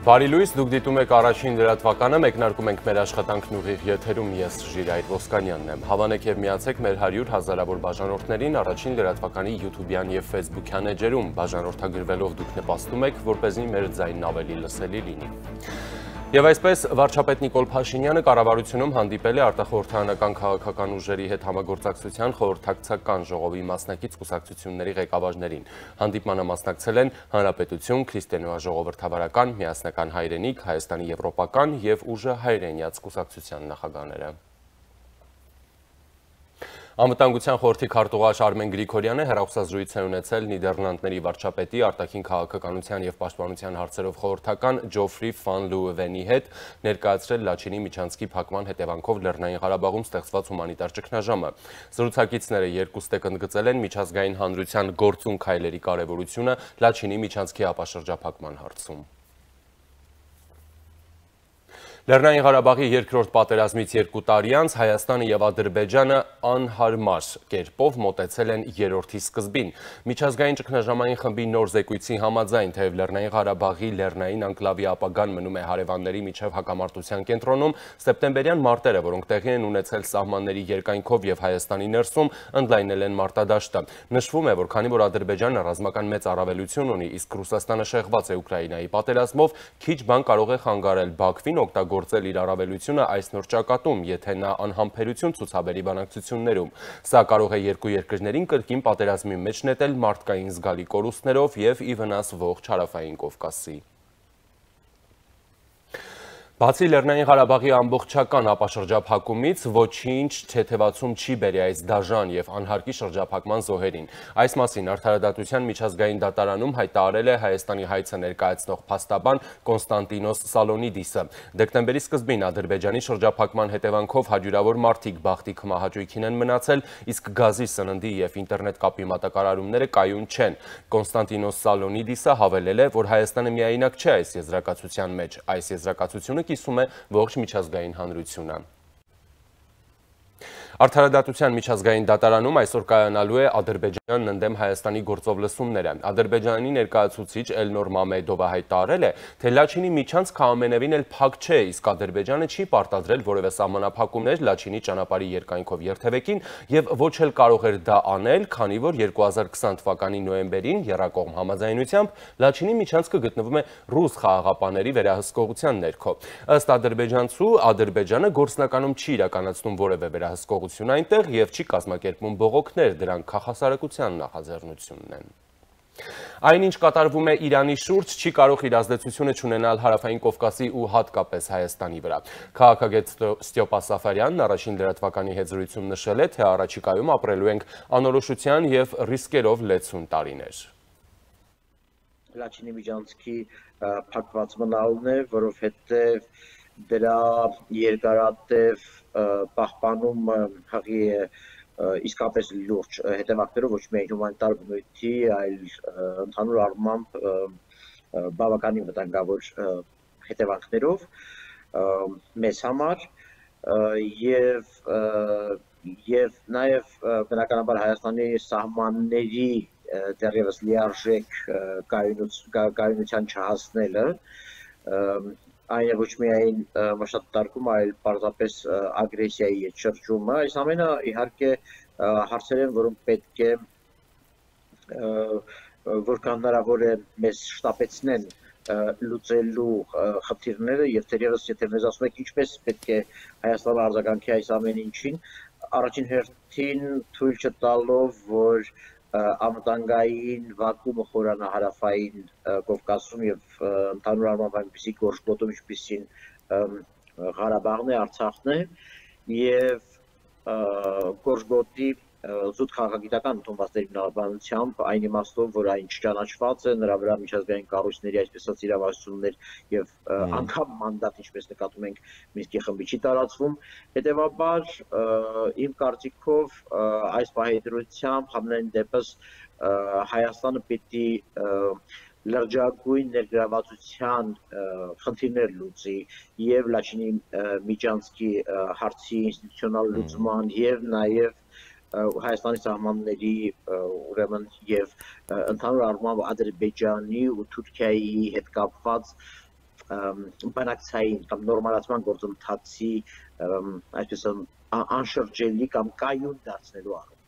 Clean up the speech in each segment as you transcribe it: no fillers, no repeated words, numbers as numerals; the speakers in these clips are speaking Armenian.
Բարի լույս, դուք դիտում եք առաջին լրատվականը, մեկնարկում ենք մեր աշխատանքն ուղիղ եթերում, ես Ժիրայր Ոսկանյանն եմ։ Հավանեք եւ միացեք մեր 100 հազարավոր բաժանորդներին առաջին լրատվականի YouTube-յան եւ Facebook-յան էջերում, բաժանորդագրվելով դուք նպաստում եք, որպեսզի մեր ձայնն ավելի լսելի լինի։ Եվ այսպես վարչապետ Նիկոլ Փաշինյանը կառավարությունում հանդիպել է արտախորհրդարանական քաղաքական ուժերի հետ համագործակցության խորհրդակցական ժողովի մասնակից կուսակցությունների ղեկավարներին։ Հանդիպմանը մասնակցել են Հանրապետություն, Քրիստոնեաժողովրդավարական, Միասնական հայրենիք, Հայաստանի եվրոպական եւ ուժը հայրենյաց կուսակցության նախագահները։ Անվտանգության խորհրդի քարտուղար Արմեն Գրիգորյանը հեռախոսազրույց է ունեցել Նիդերլանդների վարչապետի արտաքին քաղաքականության եւ պաշտպանության հարցերով խորհրդական Ջոֆրի Ֆան Լուվենի հետ, ներկայացրել Լաչինի միջանցքի փակման հետևանքով Լեռնային Ղարաբաղում ստեղծված հումանիտար ճգնաժամը։ Զրուցակիցները երկուստեք ընդգծել են միջազգային հանրության գործուն քայլերի կարևորությունը Լաչինի միջանցքի ապաշրջափակման հարցում։ Լեռնային Ղարաբաղի երկրորդ պատերազմից 2 տարի անց Հայաստանը եւ Ադրբեջանը անհարմար կերպով մոտեցել են երրորդի սկզբին։ Միջազգային ճգնաժամային խմբի նոր զեկույցի համաձայն, թեև Լեռնային Ղարաբաղի լեռնային անկլավի ապագան մնում է հարևանների միջև հակամարտության կենտրոնում, սեպտեմբերյան մարտերը, որոնք տեղի են ունեցել սահմանների երկայնքով եւ Հայաստանի ներսում, ընդլայնել են մարտադաշտը։ Նշվում է, որ քանի որ Ադրբեջանը ռազմական մեծ առավելություն ունի, իսկ Ռուսաստանը շեղված է Ուկրաինայի պատերազմով, քիչ բան կարող է խանգարել Բաքվին գործել իր առավելությունը այս նոր ճակատում, եթե նա անհամբերություն ցուցաբերի բանակցություններում։ Սա կարող է երկու երկրներին կրկին պատերազմի մեջ նետել մարդկային զգալի կորուստներով եւ ի վնաս ողջ Հարավային Կովկասի։ Բացի Լեռնային Ղարաբաղի ամբողջական ապաշրջափակումից ոչինչ թեթևացում չի բերի այս դաժան եւ անհարկի շրջափակման զոհերին։ Այս մասին Արդարադատության միջազգային դատարանում հայտարարել է Հայաստանի հայցը ներկայացնող փաստաբան Կոնստանտինոս Սալոնիդիսը։ Դեկտեմբերի սկզբին Ադրբեջանի շրջափակման հետևանքով հարյուրավոր մարդիկ բախտի քմահաճույքին են մնացել, իսկ գազի, սննդի եւ ինտերնետ կապի մատակարարումները կայուն չեն։ Կոնստանտինոս Սալոնիդիսը հավելել է, որ Հայաստանը միայնակ չէ այս եզրակացության մեջ։ Այս եզրակացությունը կիսում է ողջ միջազգային հանրությունը։ Արդարադատության միջազգային դատարանում այսօր կայանալու է Ադրբեջանն ընդդեմ Հայաստանի գործով լսումները։ Ադրբեջանի ներկայացուցիչ Էլնոր Մամեդովը հայտարարել է, թե Լաչինի միջանցքը ամենևին էլ փակ չէ, իսկ Ադրբեջանը չի պարտադրել որևէ սահմանափակումներ Լաչինի ճանապարհի երկայնքով երթևեկին եւ ոչ էլ կարող էր դա անել, քանի որ 2020 թվականի նոյեմբերին եռակողմ համաձայնությամբ Լաչինի միջանցքը գտնվում է ռուս խաղաղապահների վերահսկողության ներքո։ Ըստ ադրբեջանցու, Ադրբեջանը գործնականում չի իրականացնում որևէ վերահսկողություն այնտեղ եւ չի կազմակերպում բողոքներ, դրանք քաղաքասարակության նախաձեռնությունն են։ Այնինչ կատարվում է Իրանի շուրջ, չի կարող իր ազդեցությունը չունենալ Հարավային Կովկասի ու հատկապես Հայաստանի վրա։ Քաղաքագետ Ստյոպա Սաֆարյանն առաջին լրատվականի հետ զրույցում նշել է, թե առաջիկայում ապրելու ենք անորոշության եւ ռիսկերով լեցուն տարիներ։ Լաչինի միջանցքի փակված մնալն է, որովհետև դրա երկարատև պահպանումը հղի է իսկապես լուրջ հետևանքներով ոչ միայն հումանիտար բնույթի, այլ ընդհանուր առմամբ բավականին վտանգավոր հետևանքներով մեզ համար եւ նաեւ բնականաբար Հայաստանի սահմանների դեռևս լիարժեք կայունության չհասնելը այն է ոչ միայն մշտատարկում, այլ պարզապես ագրեսիայի հետ շրջումը։ Այս ամենը իհարկե հարցեր են, որոնք պետք է որքան հնարավոր է մեզ շտապեցնեն լուծելու խնդիրները եւ թերևս եթե մեզ ասում եք ինչպես պետք է Հայաստանը արձագանքի այս ամեն ինչին, առաջին հերթին թույլ չտալով, որ անվտանգային վակումը խորանա Հարավային Կովկասում եւ ընդհանուր առմամբ այնպիսի գործգոտում, ինչպիսին Ղարաբաղն է, Արցախն է եւ գործգոտի զուտ քաղաքագիտական ընդունվածների բնականությամբ այն իմաստով, որ այն չճանաչված է, նրա վրա միջազգային կառույցների այսպես ասած իրավասություններ եւ անգամ մանդատ, ինչպես նկատում ենք, Մինսկի խմբի չի տարածվում։ Հետևաբար իմ կարծիքով այս պահեդրությամբ համենայն դեպս Հայաստանը պիտի լրջագույն ներգրավվածության խնդիրներ լուծի եւ Լաչինի միջանցքի հարցի ինստիտուցիոնալ լուծման եւ նաեւ Հայաստանի սահմանների ուրեմն եւ ընդհանուր առմամբ Ադրբեջանի ու Թուրքիայի հետ կապված բանակցային կամ նորմալացման գործընթացի այսպես անշրջելի կամ կայուն դարձնելու առումով։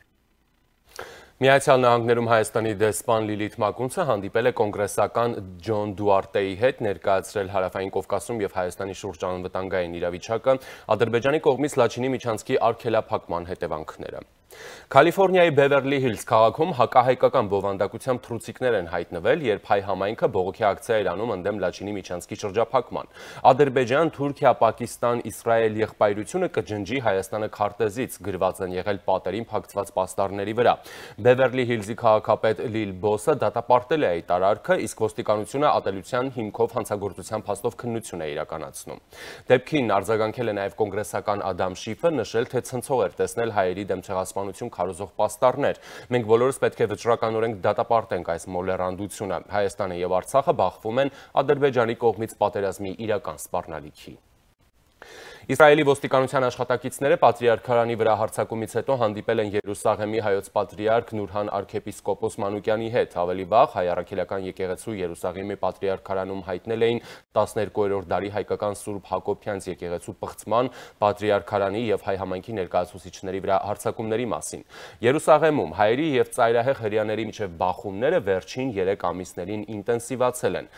Միացյալ Նահանգներում Հայաստանի դեսպան Լիլիթ Մակունցը հանդիպել է կոնգրեսական Ջոն Դուարտեի հետ, ներկայացրել Հարավային Կովկասում եւ Հայաստանի շուրջ անվտանգային իրավիճակը, Ադրբեջանի կողմից Լաչինի միջանցքի արգելափակման հետևանքները։ Կալիֆոռնիայի Բևերլի Հիլզ քաղաքում հակահայկական բովանդակությամբ թռուցիկներ են հայտնվել, երբ հայ համայնքը բողոքի ակցիա էր անում ընդդեմ Լաչինի միջանցքի շրջափակման։ Ադրբեջան, Թուրքիա, Պակիստան, Իսրայել եղբայրությունը կջնջի Հայաստանը քարտեզից գրված են եղել պատերին փակցված պաստառների վրա։ Բևերլի Հիլզի քաղաքապետ Լիլ Բոսը դատապարտել է այդ արարքը, իսկ ոստիկանությունը ատելության հիմքով հանցագործության փաստով քննություն է իրականացնում։ Դեպքին արձագանքել է նաև կոնգրեսական Ադամ Շիֆը, նշել, թե ցնցող էր տեսնել հայերի դեմ ցեղասպանություն քարոզող պաստառներ։ Մենք բոլորս պետք է վճռականորեն դատապարտենք այս մոլեռանդությունը։ Հայաստանը եւ Արցախը բախվում են Ադրբեջանի կողմից պատերազմի իրական սպառնալիքի։ Իսրայելի ոստիկանության աշխատակիցները Պատրիարքարանի վրա հարձակումից հետո հանդիպել են Երուսաղեմի հայոց պատրիարք Նուրհան արքեպիսկոպոս Մանուկյանի հետ։ Ավելի վաղ հայ առաքելական եկեղեցու Երուսաղեմի Պատրիարքարանում հայտնել էին 12-րդ դարի հայկական Սուրբ Հակոբյանց եկեղեցու պղծման, Պատրիարքարանի եւ հայ համայնքի ներկայացուցիչների վրա հարձակումների մասին։ Երուսաղեմում հայերի եւ ծայրահեղ հրեաների միջև բախումները վերջին 3 ամիսներին ինտենսիվացել են։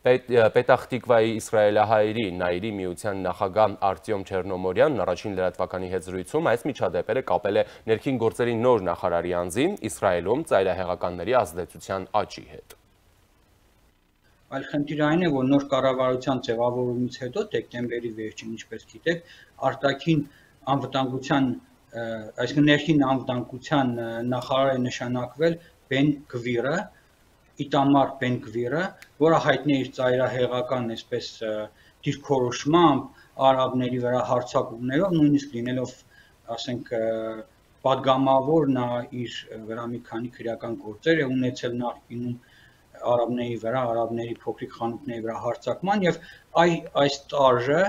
Պետախտիկվայի իսրայելահայերի Նայիրի միության նախագահ Արտյոմ Չեռնոմորյանն առաջին լրատվականի հետ զրույցում այս միջադեպերը կապել է ներքին գործերի նոր նախարարի անձին Իսրայելում ծայրահեղականների ազդեցության աճի հետ։ Այլ խնդիրը այն է, որ նոր կառավարության ձևավորումից հետո դեկտեմբերի վերջին, ինչպես գիտեք, արտաքին անվտանգության, այսինքն ներքին անվտանգության նախարար է նշանակվել Բեն Գվիրը, Իտամար Բեն Գվիրը, որը հայտնի է իր ծայրահեղական այսպես դիրքորոշմամբ, արաբների վրա հարձակումներով, նույնիսկ լինելով, ասենք, պատգամավոր, նա իր վրա մի քանի քրեական գործեր է ունեցել նախկինում արաբների վրա, արաբների փոքրիկ խանութների վրա հարձակման եւ այս տարժը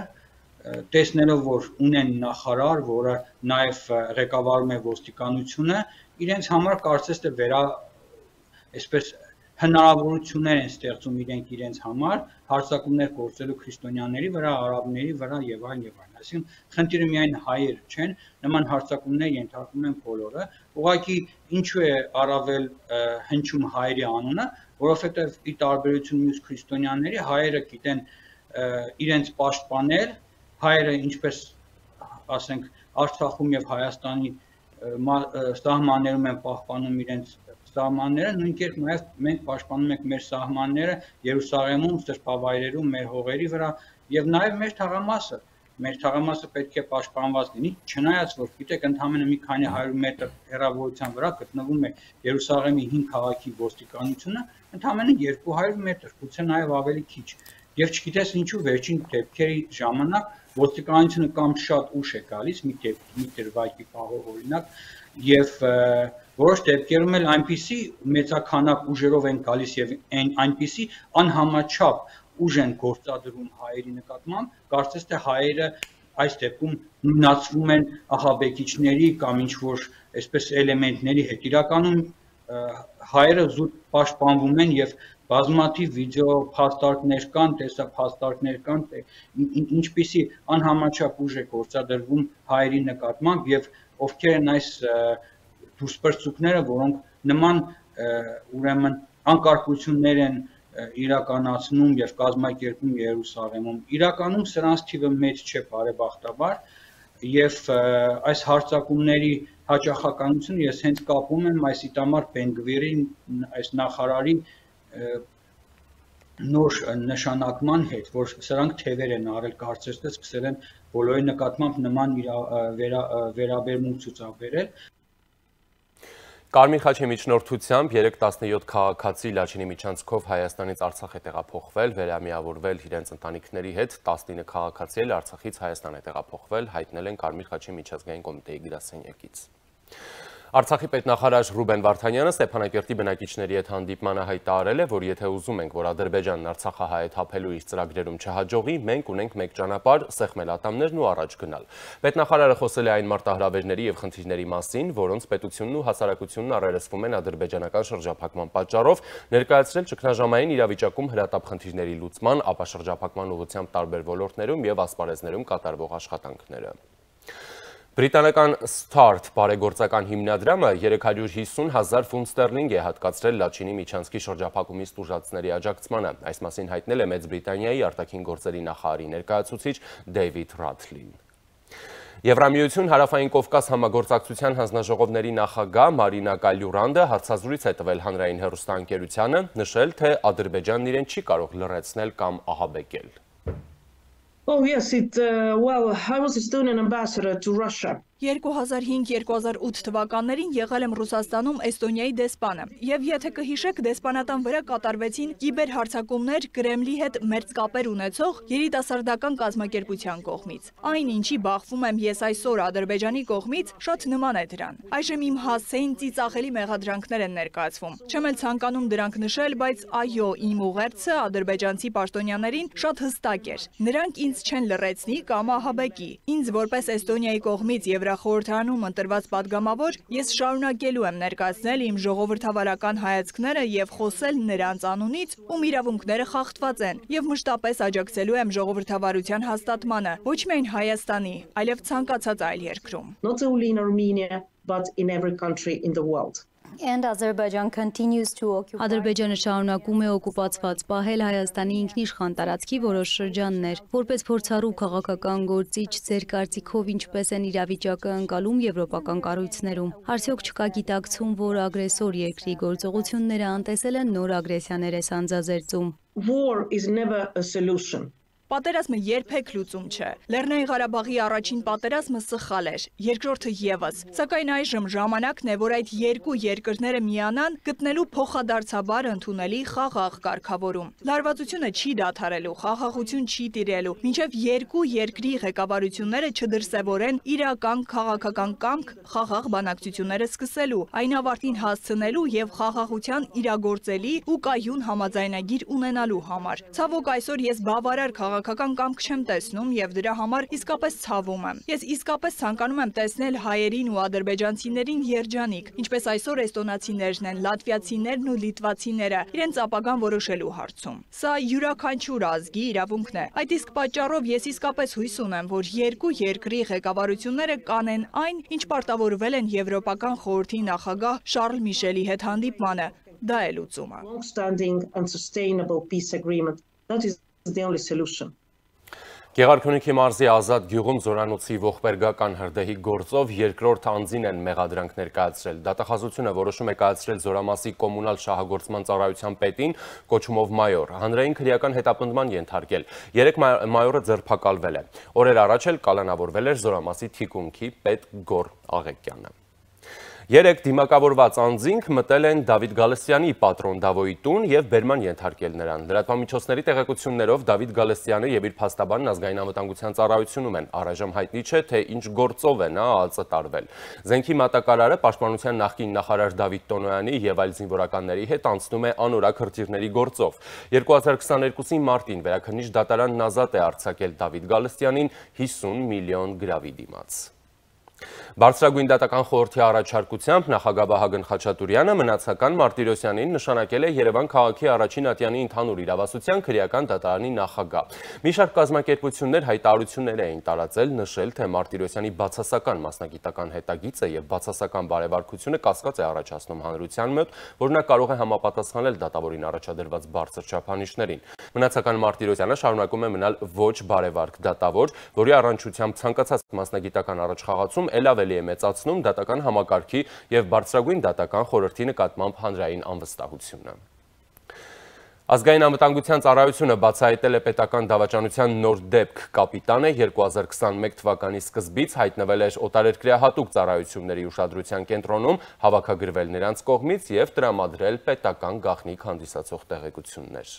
տեսնելով, որ ունեն նախարար, որը նաեւ ղեկավարում է ոստիկանությունը, իրենց համար կարծես թե այսպես հնարավորություններ են ստեղծում իրենց համար հարձակումներ գործելու քրիստոնյաների վրա, արաբների վրա եւ այլն եւ այլն։ Այսինքն խնդիրը միայն հայերը չեն, նման հարձակումներ ենթարկվում են բոլորը։ Ուղղակի ինչու է առավել հնչում հայերի անունը, որովհետեւ ի տարբերություն մյուս քրիստոնյաների հայերը գիտեն իրենց պաշտպանել, հայերը ինչպես ասենք Արցախում եւ Հայաստանի սահմաններում են պահպանում իրենց սահմանները, նույն կերպ նաև մենք պաշտպանում ենք մեր սահմանները Երուսաղեմում, սրբավայրերում, մեր հողերի վրա եւ նաև մեր թաղամասը։ Մեր թաղամասը պետք է պաշտպանված լինի, չնայած որ գիտեք, ընդամենը մի քանի 100 մետր հեռավորության վրա գտնվում է Երուսաղեմի 5 քաղաքի ոստիկանությունը, ընդամենը 200 մետր, գուցե նաև ավելի քիչ։ Եվ չգիտես ինչու վերջին դեպքերի ժամանակ ոստիկանությունը կամ շատ ուշ է գալիս, մի դրվագի պահով օրինակ, եւ որոշ դեպքերում էլ այնպիսի մեծաքանակ ուժերով են գալիս եւ այնպիսի անհամաչափ ուժ են գործադրում հայերի նկատմամբ, կարծես թե հայերը այս դեպքում նույնացվում են ահաբեկիչների կամ ինչ որ այսպես էլեմենտների հետ։ Իրականում հայերը զուտ պաշտպանվում են եւ բազմաթիվ վիդեո փաստարկներ կան, տեսափաստարկներ կան, ինչպիսի անհամաչափ ուժ է գործադրվում հայերի նկատմամբ եւ ովքեր են այս դուրսպրծուկները, որոնք նման ուրեմն անկարգություններ են իրականացնում եւ կազմակերպում Երուսաղեմում։ Իրականում սրանց թիվը մեծ չէ բարեբախտաբար եւ այս հարձակումների հաճախականությունը ես հենց կապում եմ այս Իտամար Բեն Գվիրի այս նախարարի նոր նշանակման հետ, որ սրանք թևեր են արել, կարծես թե սկսել են բոլորի նկատմամբ նման վերաբերմունք ցուցաբերել։ Կարմիր խաչի միջնորդությամբ 3-17 քաղաքացի Լաչինի միջանցքով Հայաստանից Արցախ է տեղափոխվել, վերամիավորվել իրենց ընտանիքների հետ, 19 քաղաքացի էլ Արցախից Հայաստան է տեղափոխվել, հայտնել են Կարմիր խաչի միջազգային կոմիտեի գրասենյակից։ Արցախի պետնախարար Ռուբեն Վարդանյանը Ստեփանակերտի բնակիչների հետ հանդիպմանը հայտարարել է, որ եթե ուզում ենք, որ Ադրբեջանն Արցախահայ հետ հափելու իր ծրագրերում չհաջողի, մենք ունենք մեկ ճանապարհ՝ սեղմել ատամներն ու առաջ գնալ։ Պետնախարարը խոսել է այն մարտահրավերների եւ խնդիրների մասին, որոնց պետությունն ու հասարակությունն առերեսվում են ադրբեջանական շրջափակման պատճառով, ներկայացրել ճգնաժամային իրավիճակում հրատապ խնդիրների լուծման, ապա շրջափակման ուղղությամբ տարբեր ոլորտներում եւ ասպարեզներում կատարվող աշխատանքները։ Բրիտանական Start բարեգործական հիմնադրամը 350,000 ֆունտ ստերլինգ է հատկացրել Լաչինի միջանցքի շրջափակումից տուժածների աջակցմանը։ Այս մասին հայտնել է Մեծ Բրիտանիայի արտաքին գործերի նախարարի ներկայացուցիչ Դեյվիդ Ռաթլին։ Եվրամիություն Հարավային Կովկաս համագործակցության հանձնաժողովների նախագահ Մարինա Կալյուրանդը հարցազրույց է տվել հանրային հեռուստաընկերությանը, նշել, թե Ադրբեջանն իրեն չի կարող լռեցնել կամ ահաբեկել։ Oh yes, I was Estonian ambassador to Russia. 2005-2008 թվականներին եղել եմ Ռուսաստանում Էստոնիայի դեսպանը, եւ եթե կհիշեք, դեսպանատան վրա կատարվեցին կիբերհարձակումներ Կրեմլի հետ մերձ կապեր ունեցող երիտասարդական կազմակերպության կողմից։ Այն, ինչի բախվում եմ ես այսօր Ադրբեջանի կողմից, շատ նման է դրան։ Այժմ իմ հասցեին ծիծաղելի մեղադրանքներ են ներկայացվում։ Չեմ էլ ցանկանում դրանք նշել, բայց այո, իմ ուղերձը ադրբեջանցի պաշտոնյաներին շատ հստակ էր։ Նրանք ինձ չեն լռեցնի կամ ահաբեկի։ Ինձ որպես Էստոնիայի կողմից Եվրախորհրդարանում ընտրված падգամավոր ես շարունակելու եմ ներկայացնել իմ ժողովրդավարական հայացքները եւ խոսել նրանց անունից, ում իրավունքները խախտված են, եւ մշտապես աջակցելու եմ ժողովրդավարության հաստատմանը, ոչ միայն Հայաստանի, այլև ցանկացած այլ երկրում։ Not only in Armenia, but in every country in the world. Ադրբեջանը շարունակում է օկուպացված պահել Հայաստանի ինքնիշխան տարածքի որոշ շրջաններ։ Որպես փորձառու քաղաքական գործիչ, ձեր կարծիքով ինչպես են իրավիճակը ընկալում եվրոպական կառույցներում։ Արդյոք չկա գիտակցում, որ ագրեսոր երկրի գործողությունները անտեսել են նոր ագրեսիաներ է սանձազերծում։ War is never a solution. Պատերազմը երբեք լուծում չէ։ Լեռնային Ղարաբաղի առաջին պատերազմը սխալ էր, երկրորդը եւս։ Սակայն այժմ ժամանակն է, որ այդ երկու երկրները միանան, գտնելու փոխադարձաբար ընդունելի խաղաղ կարգավորում։ Լարվածությունը չի դադարելու, խաղաղություն չի տիրելու, մինչև երկու երկրի ղեկավարությունները չդրսևորեն իրական քաղաքական կամք խաղաղ բանակցությունները սկսելու, այն ավարտին հասցնելու եւ խաղաղության իրագործելի ու կայուն համաձայնագիր ունենալու համար։ Ցավոք այսօր ես բավարար քաղաքական կամք չեմ տեսնում եւ դրա համար իսկապես ցավում եմ։ Ես իսկապես ցանկանում եմ տեսնել հայերին ու ադրբեջանցիներին երջանիկ, ինչպես այսօր էստոնացիներն են, լատվիացիներն ու լիտվացիները, իրենց ապագան որոշելու հարցում։ Սա յուրաքանչյուր ազգի իրավունքն է։ Այդ իսկ պատճառով ես իսկապես հույս ունեմ, որ երկու երկրի ղեկավարությունները կանեն այն, ինչ պարտավորվել են Եվրոպական խորհրդի նախագահ Շարլ Միշելի հետ հանդիպմանը։ Դա է լուծումը։ Long-standing and sustainable peace agreement. That is the only solution. Գեղարքունիքի մարզի Ազատ գյուղում զորանոցի ողբերգական հրդեհի գործով երկրորդ անձին են մեղադրանք ներկայացրել։ Դատախազությունը որոշում է կայացրել զորամասի կոմունալ շահագործման ծառայության պետին կոչումով մայոր, հանրային քրեական հետապնդման ենթարկել։ 3 մայորը ձերբակալվել է։ Օրեր առաջ էլ կալանավորվել էր զորամասի թիկունքի պետ Գոր Աղեկյանը։ 3 դիմակավորված անձինք մտել են Դավիթ Գալստյանի պատրոն Դավոյի տուն եւ բերման ենթարկել նրան։ Լրատվամիջոցների տեղեկություններով Դավիթ Գալստյանը եւ իր փաստաբանն ազգային անվտանգության ծառայությունում են։ Առայժմ հայտնի չէ, թե ինչ գործով է նա ԱԱԾ տարվել։ Զենքի մատակարարը պաշտպանության նախկին նախարար Դավիթ Տոնոյանի եւ այլ զինվորականների հետ անցնում է անորակ հրթիռների գործով։ 2022-ի մարտին Վերաքննիչ դատարանն ազատ է արձակել Դավիթ Գալստյանին 50 միլիոն գրավի դիմաց։ Բարձրագույն դատական խորհրդի առաջարկությամբ նախագահ Վահագն Խաչատուրյանը մնացական Մարտիրոսյանին նշանակել է Երևան քաղաքի առաջին ատյանի ընդհանուր իրավասության քրեական դատարանի նախագահ։ Մի շարք կազմակերպություններ հայտարարություններ էին տարածել, նշել, թե Մարտիրոսյանի բացասական մասնագիտական հետագիծը եւ բացասական բարեվարքությունը կասկած է առաջացնում հանրության մոտ, որ նա կարող է համապատասխանել դատավորին առաջադրված բարձր չափանիշներին։ Մնացական Մարտիրոսյանը շարունակում է մնալ ոչ բարեվարք դատավոր, որի առնչությամբ ցանկացած մասնագիտական առաջխաղացում ել ավելի է մեծացնում դատական համակարգի եւ բարձրագույն դատական խորհրդի նկատմամբ հանրային անվստահությունը։ Ազգային անվտանգության ծառայությունը բացահայտել է պետական դավաճանության նոր դեպք։ Կապիտանը 2021 թվականի սկզբից հայտնվել էր օտարերկրյա հատուկ ծառայությունների ուշադրության կենտրոնում, հավաքագրվել նրանց կողմից եւ տրամադրել պետական գաղտնիք հանդիսացող տեղեկություններ։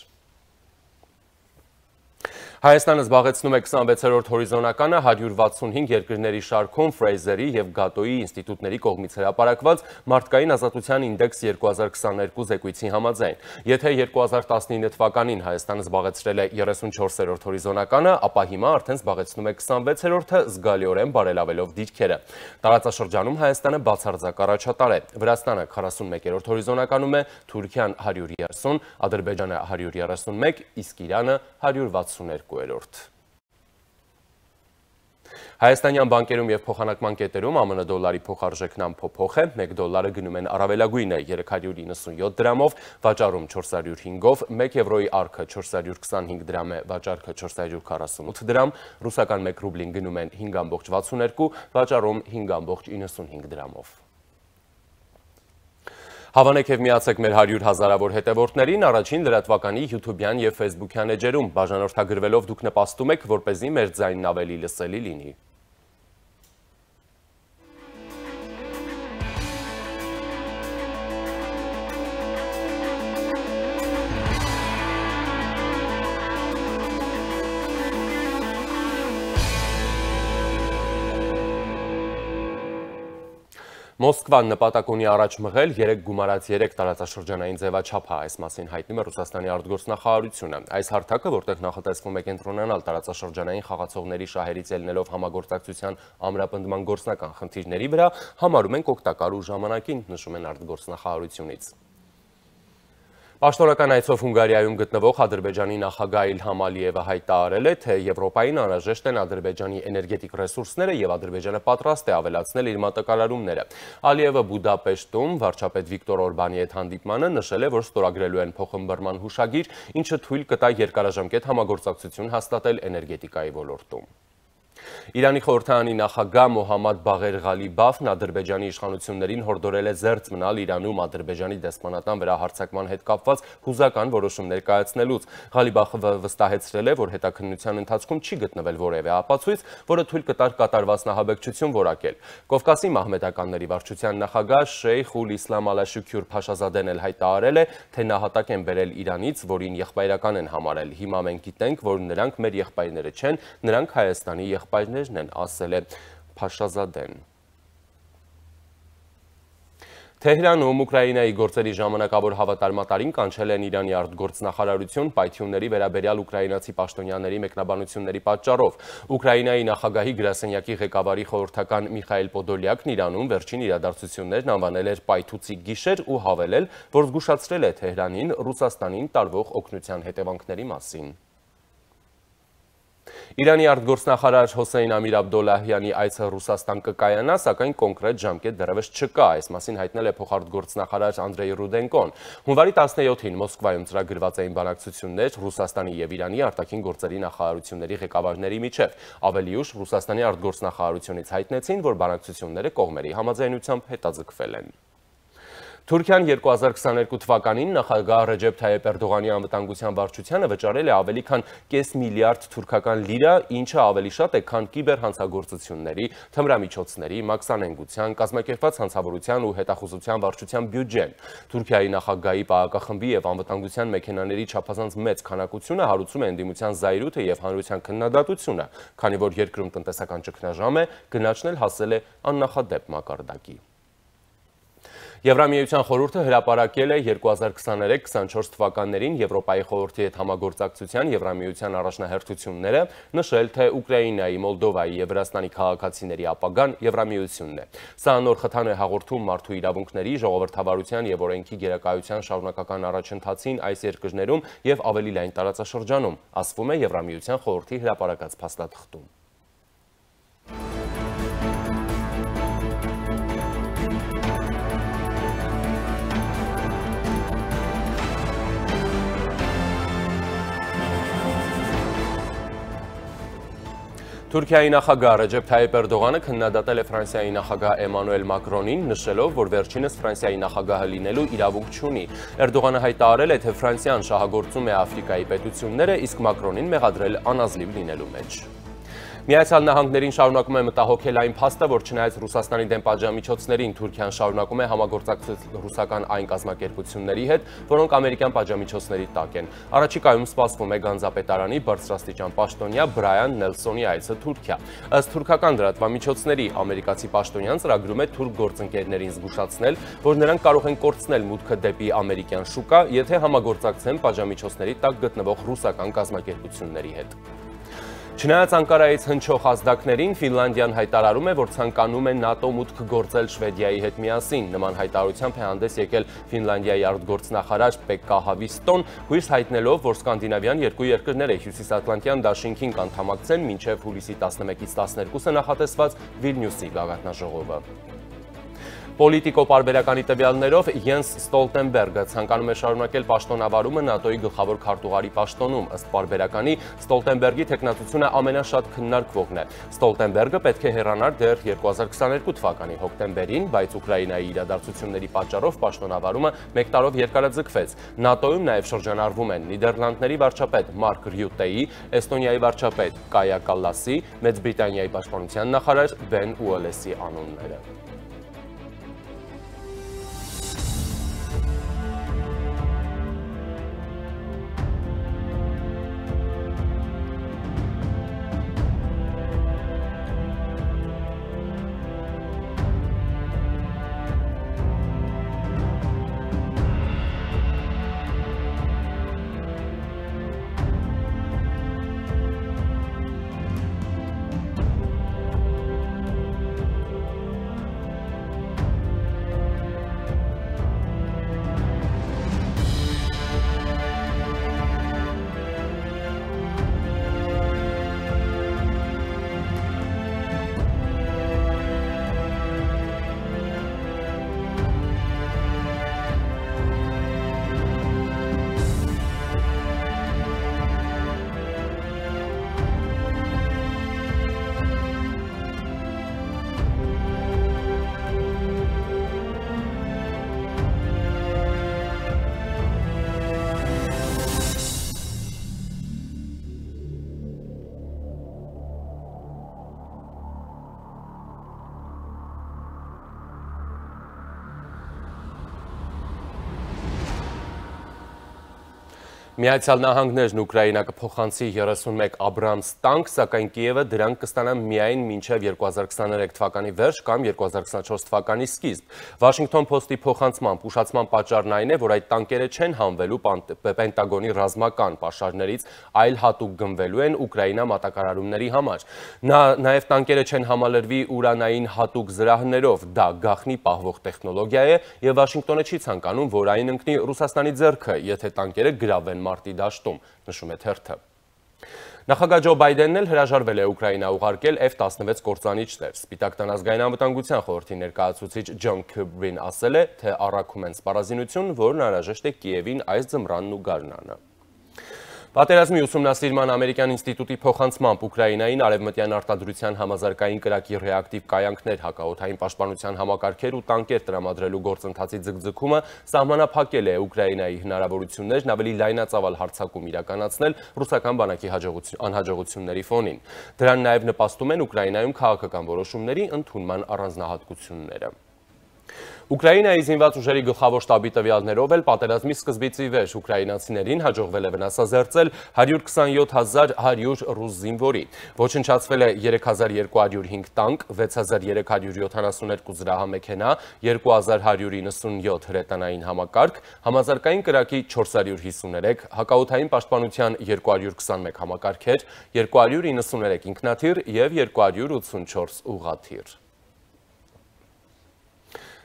Հայաստանը զբաղեցնում է 26-րդ հորիզոնականը 165 երկրների շարքում Ֆրեյզերի և Գատոյի ինստիտուտների կողմից հրապարակված մարդկային ազատության ինդեքս 2022 զեկույցի համաձայն։ Եթե 2019 թվականին Հայաստանը զբաղեցրել է 34-րդ հորիզոնականը, ապա հիմա արդեն զբաղեցնում է 26-րդը, զգալիորեն բարելավելով դիրքերը։ Տարածաշրջանում Հայաստանը բացարձակ առաջատար է։ Վրաստանը 41-րդ հորիզոնականում է, Թուրքիան 130, Ադրբեջանը 131, իսկ Իրանը 162։ Հայաստանյան բանկերում և փոխանակման կետերում ԱՄՆ դոլարի փոխարժեքն անփոփոխ է, 1 դոլարը գնում են առավելագույնը 397 դրամով, վաճառում 405-ով, 1 եվրոյի արքը 425 դրամ է, վաճառքը 448 դրամ, ռուսական 1 ռուբլին գնում են 5,62, վաճառում 5,95 դրամով։ Հավանեք և միացեք մեր 100 հազարավոր հետևորդներին առաջին լրատվականի YouTube-յան և Facebook-յան էջերում, բաժանորդագրվելով դուք նպաստում եք, որպեսզի մեր ձայնն ավելի լսելի լինի։ Մոսկվան նպատակ ունի առաջ մղել 3 գումարած 3 տարածաշրջանային ձևաչափ, այս մասին հայտնում է Ռուսաստանի արտգործնախարարությունը։ Այս հարթակը, որտեղ նախատեսվում է կենտրոնանալ տարածաշրջանային խաղացողների շահերից ելնելով համագործակցության ամրապնդման գործնական խնդիրների վրա, համարում ենք օգտակար ու ժամանակին, նշում են արտգործնախարարությունից։ Պաշտոնական այցով Հունգարիայում գտնվող Ադրբեջանի նախագահ Իլհամ Ալիևը հայտարարել է, թե Եվրոպային անհրաժեշտ են Ադրբեջանի էներգետիկ ռեսուրսները և Ադրբեջանը պատրաստ է ավելացնել իր մատակարարումները։ Ալիևը Բուդապեշտում վարչապետ Վիկտոր Օրբանի հետ հանդիպմանը նշել է, որ ստորագրելու են փոխըմբռնման հուշագիր, ինչը թույլ կտա երկարաժամկետ համագործակցություն հաստատել էներգետիկայի ոլորտում։ Իրանի խորհրդարանի նախագահ Մոհամմադ Բաղեր Ղալիբաֆն Ադրբեջանի իշխանություններին հորդորել է զերծ մնալ Իրանում Ադրբեջանի դեսպանատան վրա հարձակման հետ կապված հուզական որոշումներ կայացնելուց։ Ղալիբաֆը վստահեցրել է, որ հետաքննության ընթացքում չի գտնվել որևէ ապացույց, որը թույլ կտար կատարված նահաբեկչություն որակել։ Կովկասի մահմեդականների վարչության նախագահ Շեյխ ուլ Իսլամ Ալաշուքյուր Փաշազադեն էլ հայտարարել է, թե նահատակ են բերել Իրանից, որին եղբայրական են համարել։ Հիմա մենք գիտենք, որ նրանք մեր եղբայրները չեն, նրանք Հայաստանի եղբայրներն են, ասել է Փաշազադեն։ Թեհրանում Ուկրաինայի գործերի ժամանակավոր հավատարմատարին կանչել են Իրանի արտգործնախարարություն պայթյունների վերաբերյալ ուկրաինացի պաշտոնյաների մեկնաբանությունների պատճառով։ Ուկրաինայի նախագահի գրասենյակի ղեկավարի խորհրդական Միխայել Պոդոլյակն Իրանում վերջին իրադարձություններն անվանել էր պայթուցիկ գիշեր ու հավելել, որ զգուշացրել է Թեհրանին Ռուսաստանին տարվող օգնության հետևանքների մասին։ Իրանի արտգործնախարար Հոսեյն Ամիր Աբդոլլահյանի այցը Ռուսաստան կկայանա, սակայն կոնկրետ ժամկետ դեռևս չկա, այս մասին հայտնել է փոխարտգործնախարար Անդրեյ Ռուդենկոն։ Հունվարի 17-ին Մոսկվայում ծրագրված էին բանակցություններ Ռուսաստանի և Իրանի արտաքին գործերի նախարարությունների ղեկավարների միջև։ Ավելի ուշ Ռուսաստանի արտգործնախարարությունից հայտնեցին, որ բանակցությունները կողմերի համաձայնությամբ հետաձգվել են։ Թուրքիան 2022 թվականին նախագահ Ռեջեփ Թայիփ Էրդողանի անվտանգության վարչությանը վճարել է ավելի քան կես միլիարդ թուրքական լիրա, ինչը ավելի շատ է, քան կիբերհանցագործությունների, թմրամիջոցների, մաքսանենգության, կազմակերպված հանցավորության ու հետախուզության վարչության բյուջեն։ Թուրքիայի նախագահի պահակախմբի և անվտանգության մեքենաների չափազանց մեծ քանակությունը հարուցում է ընդդիմության զայրույթը և հանրության քննադատությունը, քանի որ երկրում տնտեսական ճգնաժամ է, գնաճն էլ հասել է աննախադեպ մակարդակի։ Եվրամիության խորհուրդը հրապարակել է 2023-24 թվականներին Եվրոպայի խորհրդի հետ համագործակցության Եվրամիության առաջնահերթությունները, նշել, թե Ուկրաինայի, Մոլդովայի և Վրաստանի քաղաքացիների ապագան Եվրամիությունն է։ Սա նոր խթան է հաղորդում մարդու իրավունքների, ժողովրդավարության և օրենքի գերակայության շարունակական առաջընթացին այս երկրներում և ավելի լայն տարածաշրջանում, ասվում է Եվրամիության խորհրդի հրապարակած փաստաթղթում։ Թուրքիայի նախագահ Ռեջեփ Թայիփ Էրդողանը քննադատել է Ֆրանսիայի նախագահ Էմանուել Մակրոնին, նշելով, որ վերջինս Ֆրանսիայի նախագահը լինելու իրավունք չունի։ Էրդողանը հայտարարել է, թե Ֆրանսիան շահագործում է Աֆրիկայի պետությունները, իսկ Մակրոնին մեղադրել անազնիվ լինելու մեջ։ Միացյալ Նահանգներին շարունակում է մտահոգել այն փաստը, որ չնայած Ռուսաստանի դեմ պատժամիջոցներին Թուրքիան շարունակում է համագործակցել ռուսական այն կազմակերպությունների հետ, որոնք ամերիկյան պատժամիջոցների տակ են։ Առաջիկայում սպասվում է Գանձապետարանի բարձրաստիճան պաշտոնյա Բրայան Նելսոնի այցը Թուրքիա։ Ըստ թուրքական լրատվամիջոցների ամերիկացի պաշտոնյան ծրագրում է թուրք գործընկերներին զգուշացնել, որ նրանք կարող են կորցնել մուտքը դեպի ամերիկյան շուկա, եթե համագործակցեն պատժամիջոցների տակ գտնվող ռուսական կազմակերպությունների հետ։ Չնայած Անկարայից հնչող ազդակներին, Ֆինլանդիան հայտարարում է, որ ցանկանում է ՆԱՏՕ մուտք գործել Շվեդիայի հետ միասին։ Նման հայտարարությամբ է հանդես եկել Ֆինլանդիայի արտգործնախարար Պեկկա Հավիստոն, հույս հայտնելով, որ սկանդինավյան երկու երկրները Հյուսիսատլանտյան դաշինքին կանդամակցեն մինչև հուլիսի 11-ից 12-ը նախատեսված Վիլնյուսի գագաթնաժողովը։ Պոլիտիկո պարբերականի տվյալներով Յենս Ստոլտենբերգը ցանկանում է շարունակել պաշտոնավարումը ՆԱՏՕ-ի գլխավոր քարտուղարի պաշտոնում։ Ըստ պարբերականի Ստոլտենբերգի թեկնածությունը ամենաշատ քննարկվողն է։ Ստոլտենբերգը պետք է հեռանար դեռ 2022 թվականի հոկտեմբերին, բայց Ուկրաինայի իրադարձությունների պատճառով պաշտոնավարումը մեկ տարով երկարաձգվեց։ ՆԱՏՕ-ում նաև շրջանառվում են Նիդերլանդների վարչապետ Մարկ Ռյուտեի, Էստոնիայի վարչապետ Կայա Կալլասի, Մեծ Բրիտանիայի պաշտպանության նախարար Բեն Ուոլեսի անունները։ Միացյալ Նահանգներն Ուկրաինա կփոխանցի 31 Աբրամս տանկ, սակայն Կիևը դրանք կստանա միայն մինչև 2023 թվականի վերջ կամ 2024 թվականի սկիզբ։ Վաշինգտոն Փոստի փոխանցմամբ ուշացման պատճառն այն է, որ այդ տանկերը չեն հանվելու Պենտագոնի ռազմական պաշարներից, այլ հատուկ գնվելու են Ուկրաինա մատակարարումների համար։ Նաև տանկերը չեն համալրվի ուրանային հատուկ զրահներով, դա գաղտնի պահվող տեխնոլոգիա է եւ Վաշինգտոնը չի ցանկանում, որ այն ընկնի Ռուսաստանի ձեռքը, եթե տանկերը գրավեն մարտի դաշտում, նշում է թերթը։ Նախագահ Ջո Բայդենն էլ հրաժարվել է Ուկրաինա ուղարկել F-16 կործանիչներ։ Սպիտակ տան ազգային անվտանգության խորհրդի ներկայացուցիչ Ջոն Քըրբին ասել է, թե առաքում են սպառազինություն, որն անհրաժեշտ է Կիևին այս ձմռանն ու գարնանը։ Պատերազմի ուսումնասիրման ամերիկյան ինստիտուտի փոխանցմամբ Ուկրաինային արևմտյան արտադրության համազարգային կրակի ռեակտիվ կայանքներ, հակաօդային պաշտպանության համակարգեր ու տանկեր տրամադրելու գործընթացի ձգձգումը սահմանափակել է Ուկրաինայի հնարավորություններն ավելի լայնածավալ հարձակում իրականացնել ռուսական բանակի անհաջողությունների ֆոնին։ Դրան նաև նպաստում են Ուկրաինայում քաղաքական որոշումների ընդունման առանձնահատկությունները։ Ուկրաինայի զինված ուժերի գլխավոր շտաբի տվյալներով էլ պատերազմի սկզբից ի վեր ուկրաինացիներին հաջողվել է վնասազերծել 127,100 ռուս զինվորի։ Ոչնչացվել է 3205 տանկ, 6372 զրահամեքենա, 2197 հրետանային համակարգ, համազարգային կրակի 453, հակաօդային պաշտպանության 221 համակարգեր, 293 ինքնաթիռ և 284 ուղղաթիռ։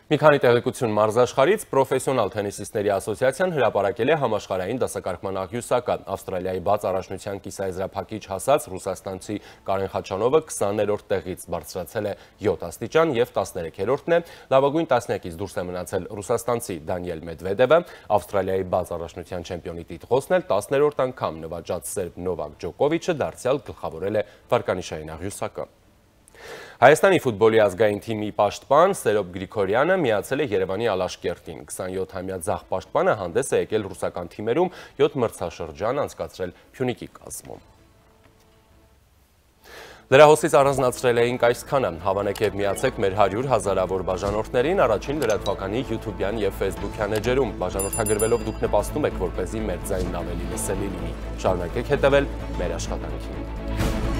Մի քանի տեղեկություն մարզաշխարհից պրոֆեսիոնալ թենիսիստների ասոցիացիան հրապարակել է համաշխարհային դասակարգման աղյուսակը։ Ավստրալիայի բաց առաջնության կիսաեզրափակիչ հասած ռուսաստանցի Կարեն Խաչանովը 20-րդ տեղից բարձրացել է 7 աստիճան և 13-րդն է։ Լավագույն տասնյակից դուրս է մնացել ռուսաստանցի Դանիել Մեդվեդևը, Ավստրալիայի բաց առաջնության չեմպիոնի տիտղոսն էլ 10-րդ անգամ նվաճած սերբ Նովակ Ջոկովիչը դարձյալ գլխավորել է վարկանիշային աղյուսակը։ Հայաստանի ֆուտբոլի ազգային թիմի պաշտպան Սերոբ Գրիգորյանը միացել է Երևանի Ալաշկերտին։ 27-ամյա ձախ պաշտպանը հանդես է եկել ռուսական թիմերում 7 մրցաշրջան անցկացրել Փյունիկի կազմում։ Լրահոսից առանձնացրել էինք այսքանը, հավանեք եւ միացեք մեր 100 հազարավոր բաժանորդներին առաջին լրատվականի YouTube-յան եւ Facebook-յան էջերում, բաժանորդագրվելով դուք նպաստում եք, որպեսզի մեր ձայնն ավելի լսելի լինի։ Շարունակեք հետևել մեր աշխատանքին։